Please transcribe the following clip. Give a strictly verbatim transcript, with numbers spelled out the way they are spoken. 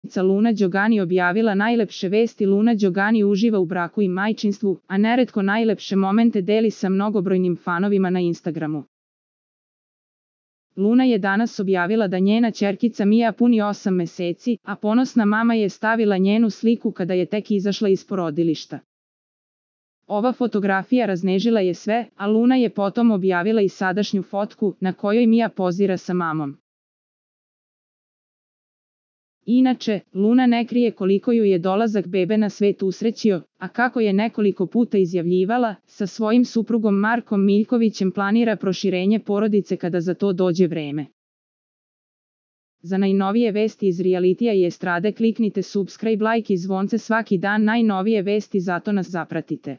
Luna Đogani objavila najlepše vesti. Luna Đogani uživa u braku i majčinstvu, a neretko najlepše momente deli sa mnogobrojnim fanovima na Instagramu. Luna je danas objavila da njena ćerkica Mija puni osam meseci, a ponosna mama je stavila njenu sliku kada je tek izašla iz porodilišta. Ova fotografija raznežila je sve, a Luna je potom objavila i sadašnju fotku, na kojoj Mija pozira sa mamom. Inače, Luna ne krije koliko ju je dolazak bebe na svet usrećio, a kako je nekoliko puta izjavljivala, sa svojim suprugom Markom Miljkovićem planira proširenje porodice kada za to dođe vreme. Za najnovije vesti iz realitija i estrade kliknite subscribe, like i zvonce svaki dan. Najnovije vesti, zato nas zapratite.